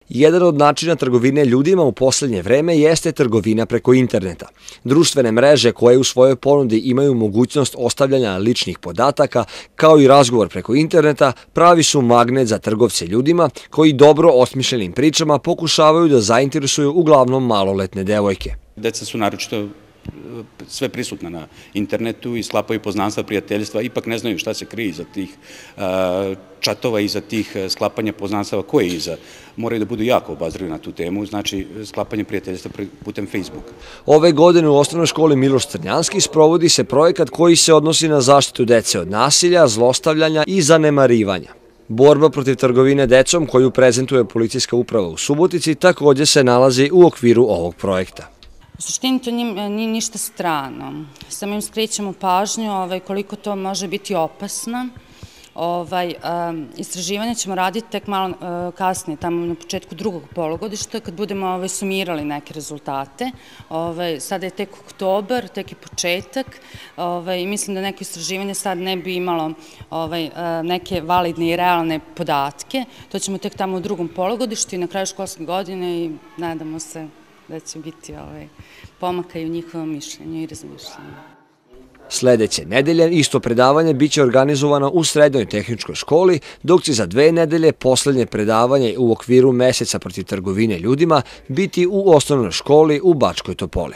Jedan od načina trgovine ljudima u poslednje vreme jeste trgovina preko interneta. Društvene mreže koje u svojoj ponudi imaju mogućnost ostavljanja ličnih podataka, kao i razgovor preko interneta, pravi su magnet za trgovce ljudima koji dobro osmišljenim pričama pokušavaju da zainteresuju uglavnom maloletne devojke. Deca su naročito sve prisutna na internetu i sklapaju poznanstva, prijateljstva, ipak ne znaju šta se krije iza tih čatova, iza tih sklapanja poznanstava, koje je iza. Moraju da budu jako obazrivi na tu temu, znači sklapanje prijateljstva putem Facebooka. Ove godine u osnovnoj školi Miloš Crnjanski sprovodi se projekat koji se odnosi na zaštitu dece od nasilja, zlostavljanja i zanemarivanja. Borba protiv trgovine decom koju prezentuje policijska uprava u Subotici takođe se nalazi u okviru ovog projekta. U suštini to nije ništa strano, samo im skrećemo pažnju koliko to može biti opasno. Istraživanje ćemo raditi tek malo kasnije, tamo na početku drugog polugodišta, kad budemo sumirali neke rezultate. Sada je tek oktobar, tek je početak i mislim da neko istraživanje sad ne bi imalo neke validne i realne podatke. To ćemo tek tamo u drugom polugodištu i na kraju školske godine i nadamo se da će biti pomaka i u njihovom mišljenju i razmišljenju. Sledeće nedelje isto predavanje biće organizovano u Srednjoj tehničkoj školi, dok će za 2 nedelje poslednje predavanje u okviru meseca protiv trgovine ljudima biti u osnovnoj školi u Bačkoj Topoli.